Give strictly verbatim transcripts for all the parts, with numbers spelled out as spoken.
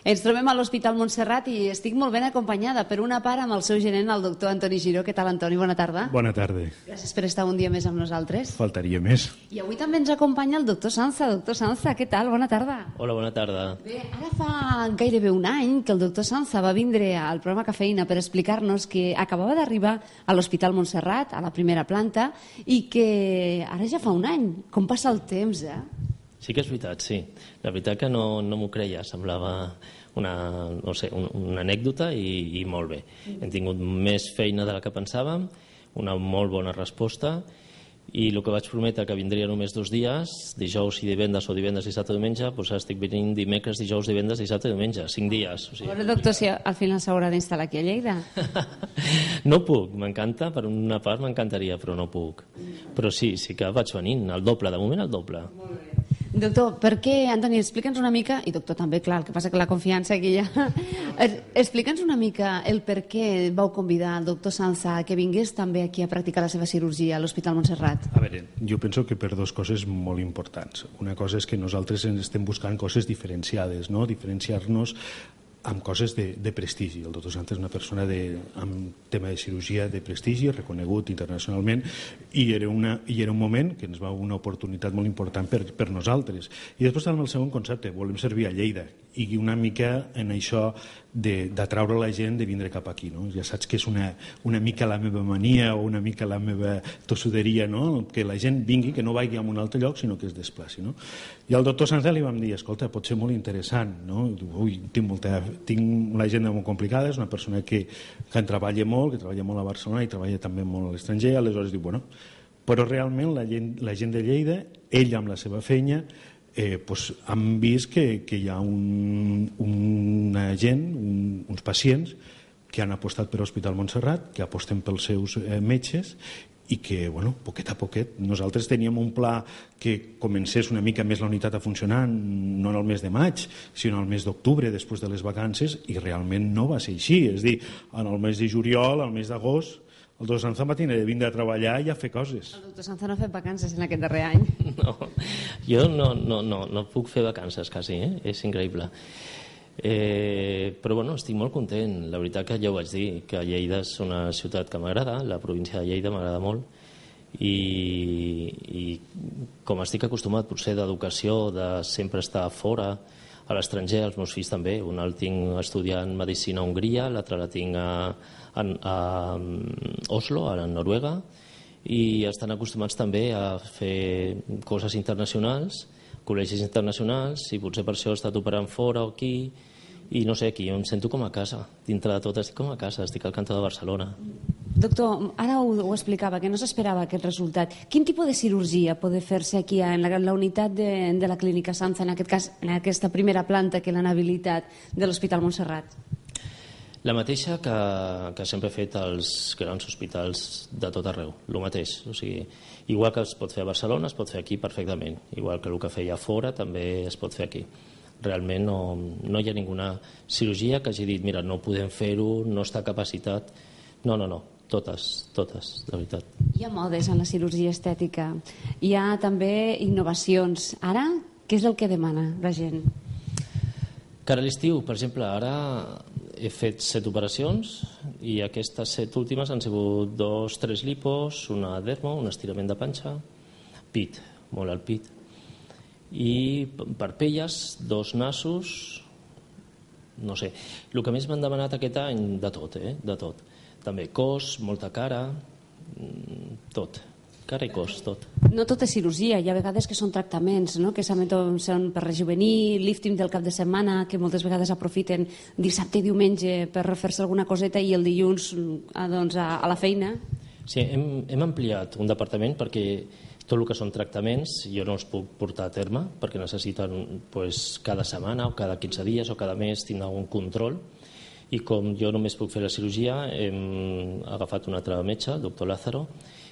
Ens trobem a l'Hospital Montserrat i estic molt ben acompanyada per una part amb el seu gerent, el doctor Antoni Giró. Què tal, Antoni? Bona tarda. Bona tarda. Gràcies per estar un dia més amb nosaltres. Faltaria més. I avui també ens acompanya el doctor Sanza. Doctor Sanza, què tal? Bona tarda. Hola, bona tarda. Bé, ara fa gairebé un any que el doctor Sanza va vindre al programa Cafeïna per explicar-nos que acabava d'arribar a l'Hospital Montserrat, a la primera planta, i que ara ja fa un any. Com passa el temps, eh? Sí que és veritat, sí. La veritat que no, no m'ho creia, semblava una, no sé, un, una anècdota i, i molt bé. Hem tingut més feina de la que pensàvem, una molt bona resposta, i el que vaig prometre que vindria només dos dies, dijous i divendres o divendres, dissabte i diumenge, doncs ara estic venint dimecres, dijous, divendres, dissabte i diumenge, cinc dies. O sigui... A veure, doctor, si al final s'haurà d'instal·lar aquí a Lleida. No puc, m'encanta, per una part m'encantaria, però no puc. Però sí, sí que vaig venint, el doble, de moment el doble. Molt bé. Doctor, per què, Antoni, explica'ns una mica, i doctor també, clar, el que passa que la confiança aquí ja... Explica'ns una mica el per què vau convidar el doctor Sanza que vingués també aquí a practicar la seva cirurgia a l'Hospital Montserrat. A veure, jo penso que per dues coses molt importants. Una cosa és que nosaltres estem buscant coses diferenciades, no? Diferenciar-nos amb coses de, de prestigi. El doctor Sanza és una persona de, amb tema de cirurgia de prestigi, reconegut internacionalment, i era, una, i era un moment que ens va una oportunitat molt important per, per nosaltres. I després amb el segon concepte, volem servir a Lleida, i una mica en això d'atraure la gent de vindre cap aquí. No? Ja saps que és una, una mica la meva mania o una mica la meva tossuderia, no? Que la gent vingui, que no vagi a un altre lloc, sinó que es desplaci. No? I al doctor Sanza li vam dir, escolta, pot ser molt interessant. No? Ui, tinc, molta, tinc una agenda molt complicada, és una persona que, que en treballa molt, que treballa molt a Barcelona i treballa també molt a l'estranger, aleshores diu, bueno, però realment la gent, la gent de Lleida, ell amb la seva feina, Eh, pues, han vist que, que hi ha un, una gent, un, uns pacients que han apostat per l'Hospital Montserrat, que aposten pels seus eh, metges i que, bueno, poquet a poquet, nosaltres teníem un pla que comencés una mica més la unitat a funcionar, no en el mes de maig, sinó el mes d'octubre, després de les vacances, i realment no va ser així. És a dir, en el mes de juliol, al mes d'agost, el doctor Sanza va tenir de vindre a treballar i a fer coses. El doctor Sanza no ha fet vacances en aquest darrer any. No, jo no, no, no, no puc fer vacances quasi, eh? És increïble. Eh, però bueno, estic molt content. La veritat que ja ho vaig dir, que Lleida és una ciutat que m'agrada, la província de Lleida m'agrada molt, i, i com estic acostumat potser d'educació, de sempre estar fora, a l'estranger, els meus fills també. Un el tinc estudiant medicina a Hongria, l'altre la tinc a, a, a Oslo, a Noruega, i estan acostumats també a fer coses internacionals, col·legis internacionals, i potser per això he estat operant fora o aquí, i no sé, aquí jo em sento com a casa. Dintre de tot estic com a casa, estic al cantó de Barcelona. Doctor, ara ho, ho explicava, que no s'esperava aquest resultat. Quin tipus de cirurgia pot fer-se aquí en la, la unitat de, de la Clínica Sanza, en aquest cas, en aquesta primera planta que l'han habilitat de l'Hospital Montserrat? La mateixa que, que sempre he fet als grans hospitals de tot arreu, el mateix. O sigui, igual que es pot fer a Barcelona, es pot fer aquí perfectament. Igual que el que feia fora també es pot fer aquí. Realment no, no hi ha ninguna cirurgia que hagi dit, mira, no podem fer-ho, no està capacitat. No, no, no. Totes, totes, de veritat. Hi ha modes en la cirurgia estètica. Hi ha també innovacions. Ara, què és el que demana la gent? Cara a l'estiu, per exemple, ara he fet set operacions i aquestes set últimes han sigut dos, tres lipos, una dermo, un estirament de panxa, pit, molt al pit, i parpelles, dos nassos, no sé. El que més m'han demanat aquest any, de tot, eh? De tot. També cos, molta cara, tot, cara i cos, tot. No tot és cirurgia, hi ha vegades que són tractaments, no? Que són per rejuvenir, lifting del cap de setmana, que moltes vegades aprofiten dissabte i diumenge per fer-se alguna coseta i el dilluns doncs, a, a la feina. Sí, hem, hem ampliat un departament perquè tot el que són tractaments jo no els puc portar a terme perquè necessiten pues, cada setmana o cada quinze dies o cada mes tindre un control. I com jo només puc fer la cirurgia, hem agafat un altre metge, el doctor Lázaro,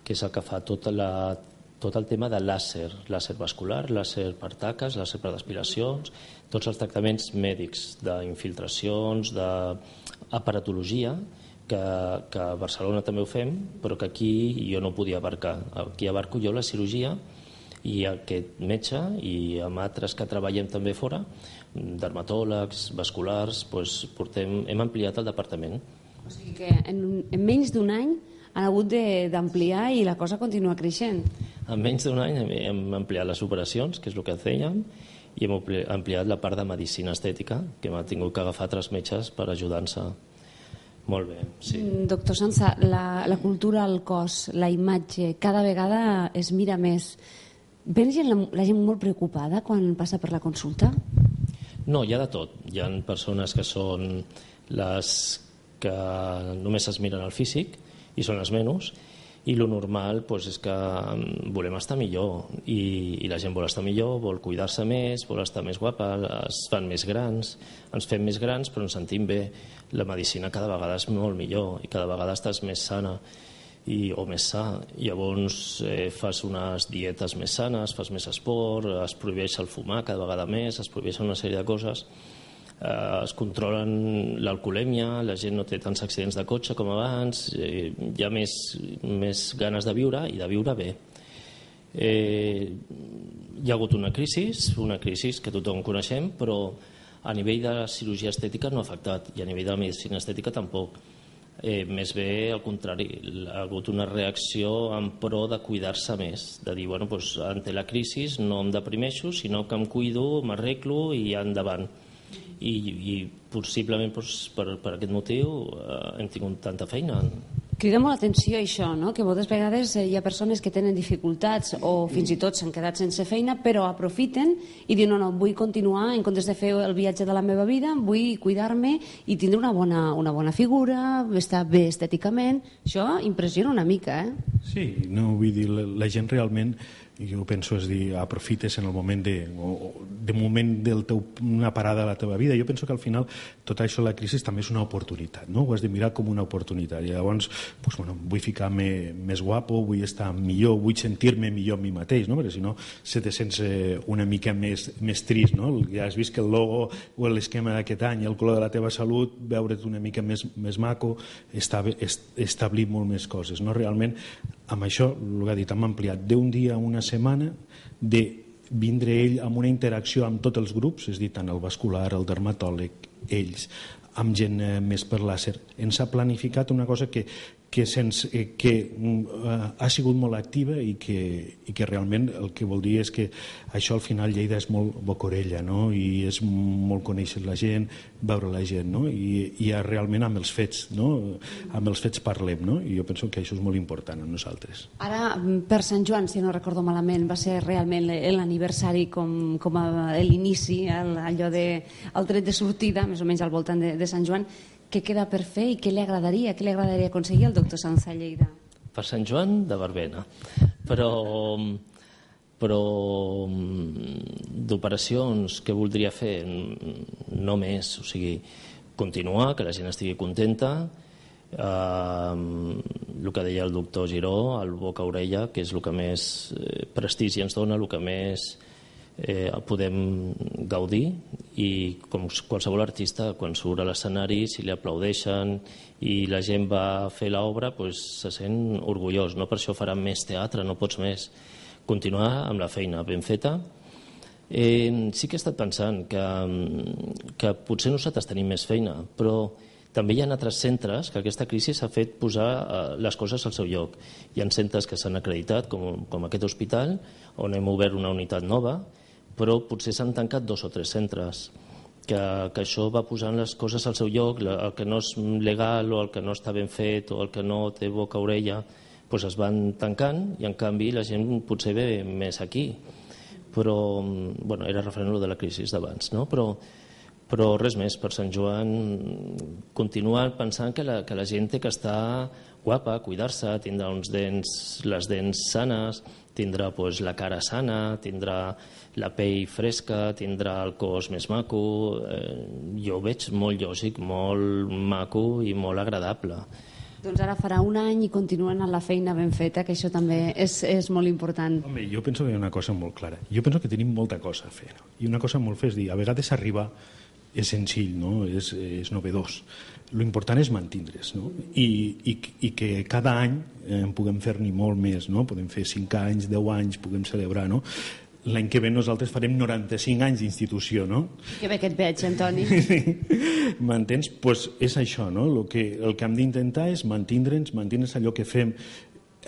que és el que fa tot, la, tot el tema de làser, làser vascular, làser per taques, làser per aspiracions, tots els tractaments mèdics d'infiltracions, d'aparatologia, que, que a Barcelona també ho fem, però que aquí jo no podia abarcar. Aquí abarco jo la cirurgia i aquest metge i amb altres que treballem també fora dermatòlegs, vasculars, doncs portem, hem ampliat el departament. O sigui que en, en menys d'un any han hagut d'ampliar i la cosa continua creixent. En menys d'un any hem ampliat les operacions, que és el que fèiem, i hem ampliat la part de medicina estètica, que m'ha tingut que agafar tres metges per ajudar-se. Molt bé, sí. Doctor Sanza, la, la cultura, el cos, la imatge, cada vegada es mira més. Ven gent, la, la gent molt preocupada quan passa per la consulta? No, hi ha de tot. Hi ha persones que són les que només es miren el físic i són les menys, i lo normal doncs, és que volem estar millor i, i la gent vol estar millor, vol cuidar-se més, vol estar més guapa, es fan més grans, ens fem més grans però ens sentim bé. La medicina cada vegada és molt millor i cada vegada estàs més sana i, o més sa. Llavors eh, fas unes dietes més sanes, fas més esport, es prohibeix el fumar cada vegada més, es prohibeixen una sèrie de coses. Eh, es controlen l'alcoholèmia, la gent no té tants accidents de cotxe com abans, eh, hi ha més, més ganes de viure i de viure bé. Eh, hi ha hagut una crisi, una crisi que tothom coneixem, però a nivell de cirurgia estètica no ha afectat i a nivell de la medicina estètica tampoc. Eh, més bé, al contrari, ha hagut una reacció en pro de cuidar-se més, de dir, bueno, doncs, ante la crisi no em deprimeixo, sinó que em cuido, m'arreglo i endavant. I, i possiblement doncs, per, per aquest motiu eh, hem tingut tanta feina. Crida molt l'atenció això, no? Que moltes vegades hi ha persones que tenen dificultats o fins i tot s'han quedat sense feina, però aprofiten i diuen, no, no, vull continuar, en comptes de fer el viatge de la meva vida, vull cuidar-me i tindre una bona, una bona figura, estar bé estèticament. Això impressiona una mica, eh? Sí, no, vull dir, la, la gent realment, jo penso, és dir, aprofites en el moment de, o, de moment del teu, una parada a la teva vida. Jo penso que al final tot això, la crisi també és una oportunitat, no? Ho has de mirar com una oportunitat. I llavors, pues, bueno, vull ficar-me més guapo, vull estar millor, vull sentir-me millor a mi mateix, no? Perquè si no se te sents una mica més, més trist, no? Ja has vist que el logo o l'esquema d'aquest any, el color de la teva salut, veure't una mica més, més maco, establir molt més coses, no? Realment, amb això, el que ha dit, hem ampliat d'un dia a una setmana de vindre ell amb una interacció amb tots els grups, és a dir, tant el vascular, el dermatòleg, ells, amb gent eh, més per làser. Ens ha planificat una cosa que, que, sense, eh, que eh, ha sigut molt activa i que, i que realment el que vol dir és que això al final Lleida és molt bocorella, no? I és molt conèixer la gent, veure la gent, no? I, i realment amb els fets, no? Amb els fets parlem, no? I jo penso que això és molt important a nosaltres. Ara, per Sant Joan, si no recordo malament, va ser realment l'aniversari com, com a l'inici, allò de, el tret de sortida, més o menys al voltant de, de Sant Joan. Què queda per fer i què li agradaria, què li agradaria aconseguir al doctor Sanza a Lleida? Per Sant Joan, de verbena. Però, però d'operacions que voldria fer, no més. O sigui, continuar, que la gent estigui contenta. Eh, el que deia el doctor Giró, el boca-orella, que és el que més prestigi ens dona, el que més eh, podem gaudir, i com qualsevol artista, quan surt a l'escenari, si li aplaudeixen i la gent va a fer l'obra, doncs se sent orgullós, no? Per això farà més teatre, no pots més. Continuar amb la feina ben feta. Eh, sí que he estat pensant que, que potser nosaltres tenim més feina, però també hi ha altres centres que aquesta crisi s'ha fet posar les coses al seu lloc. Hi ha centres que s'han acreditat, com, com aquest hospital, on hem obert una unitat nova, però potser s'han tancat dos o tres centres, que, que això va posant les coses al seu lloc, el que no és legal o el que no està ben fet o el que no té boca-orella, doncs es van tancant i en canvi la gent potser ve més aquí. Però, bueno, era referent a de la crisi d'abans, no? Però, però res més, per Sant Joan continuar pensant que la, que la gent té que estar guapa, cuidar-se, tindrà uns dents, les dents sanes, tindrà pues, la cara sana, tindrà la pell fresca, tindrà el cos més maco. Eh, jo ho veig molt lògic, molt maco i molt agradable. Doncs ara farà un any i continuen amb la feina ben feta, que això també és, és molt important. Home, jo penso que hi ha una cosa molt clara. Jo penso que tenim molta cosa a fer. No? I una cosa molt fer és dir, a vegades arribar és senzill, no? és, és novedós. L'important és mantindre's, no? I, i, i que cada any eh, puguem fer-n'hi molt més, no? Podem fer cinc anys, deu anys, puguem celebrar, no? l'any que ve nosaltres farem noranta-cinc anys d'institució, no? Que bé que et veig, Antoni. M'entens? Pues és això, no? El que, el que hem d'intentar és mantindre'ns, mantindre'ns allò que fem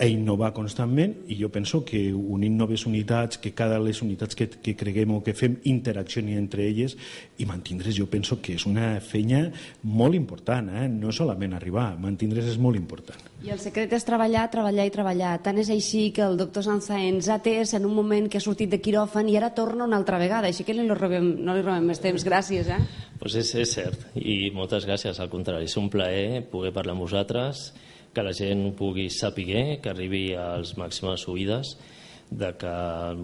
a innovar constantment, i jo penso que unint noves unitats, que cada les unitats que, que creguem o que fem interaccioni entre elles i mantindre's, jo penso que és una feina molt important, eh? No solament arribar, mantindre's és molt important. I el secret és treballar, treballar i treballar. Tant és així que el doctor Sanza ens ha atès en un moment que ha sortit de quiròfan i ara torna una altra vegada, així que li robem, no li robem més temps. Gràcies, eh? Pues és, és cert, i moltes gràcies, al contrari. És un plaer poder parlar amb vosaltres, que la gent pugui saber, que arribi a les màximes oïdes, de que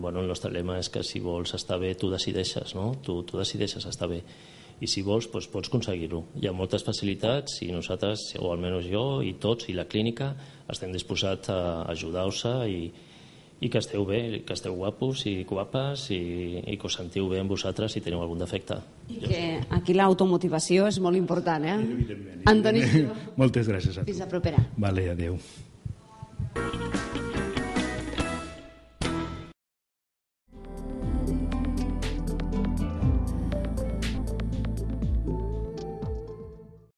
bueno, el nostre lema és que si vols estar bé, tu decideixes, no? Tu, tu decideixes estar bé. I si vols, doncs pots aconseguir-ho. Hi ha moltes facilitats i nosaltres, o almenys jo, i tots, i la clínica, estem disposats a ajudar-vos i, i que esteu bé, que esteu guapos i guapes i, i que us sentiu bé amb vosaltres si teniu algun defecte. I que aquí l'automotivació és molt important, eh? Evidentment. Antoni. Moltes gràcies a tu. Fins la propera. Vale, adeu.